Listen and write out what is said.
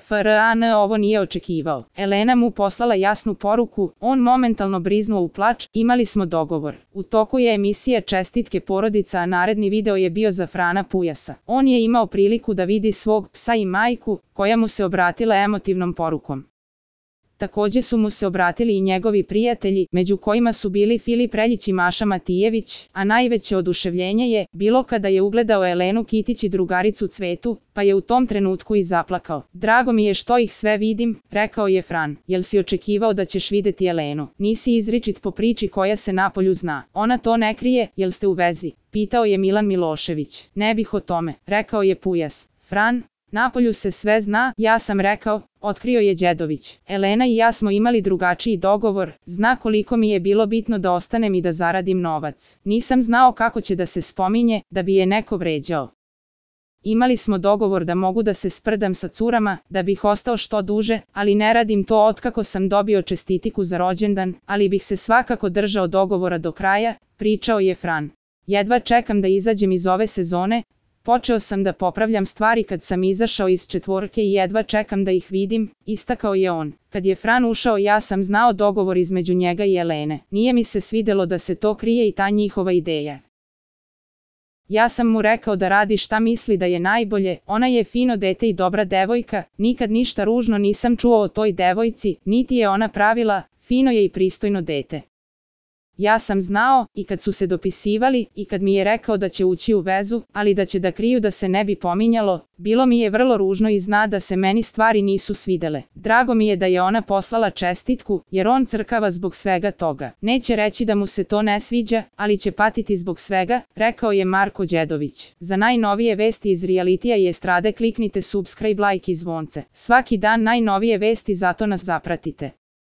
Fran ovo nije očekivao. Elena mu poslala jasnu poruku, on momentalno briznuo u plač, imali smo dogovor. U toku je emisija Čestitke porodica, a naredni video je bio za Frana Pujasa. On je imao priliku da vidi svog psa i majku, koja mu se obratila emotivnom porukom. Također su mu se obratili i njegovi prijatelji, među kojima su bili Filip Reljić i Maša Matijević, a najveće oduševljenje je bilo kada je ugledao Elenu Kitić i drugaricu Cvetu, pa je u tom trenutku i zaplakao. Drago mi je što ih sve vidim, rekao je Fran. Jel si očekivao da ćeš vidjeti Elenu? Nisi izričit po priči koja se napolju zna. Ona to ne krije, jel ste u vezi? Pitao je Milan Milošević. Ne bih o tome, rekao je Pujas. Fran, napolju se sve zna, ja sam rekao, otkrio je Đedović. Elena i ja smo imali drugačiji dogovor, zna koliko mi je bilo bitno da ostanem i da zaradim novac. Nisam znao kako će da se spominje, da bi je neko vređao. Imali smo dogovor da mogu da se sprdam sa curama, da bih ostao što duže, ali ne radim to otkako sam dobio čestitiku za rođendan, ali bih se svakako držao dogovora do kraja, pričao je Fran. Jedva čekam da izađem iz ove sezone. Počeo sam da popravljam stvari kad sam izašao iz četvorke i jedva čekam da ih vidim, istakao je on. Kad je Fran ušao ja sam znao dogovor između njega i Elene. Nije mi se svidjelo da se to krije i ta njihova ideja. Ja sam mu rekao da radi šta misli da je najbolje, ona je fino dete i dobra devojka, nikad ništa ružno nisam čuo o toj devojci, niti je ona pravila, fino je i pristojno dete. Ja sam znao, i kad su se dopisivali, i kad mi je rekao da će ući u vezu, ali da će da kriju da se ne bi pominjalo, bilo mi je vrlo ružno i zna da se meni stvari nisu svidele. Drago mi je da je ona poslala čestitku, jer on crkava zbog svega toga. Neće reći da mu se to ne sviđa, ali će patiti zbog svega, rekao je Marko Đedović. Za najnovije vesti iz realitija i estrade kliknite subscribe, like i zvonce. Svaki dan najnovije vesti, zato nas zapratite.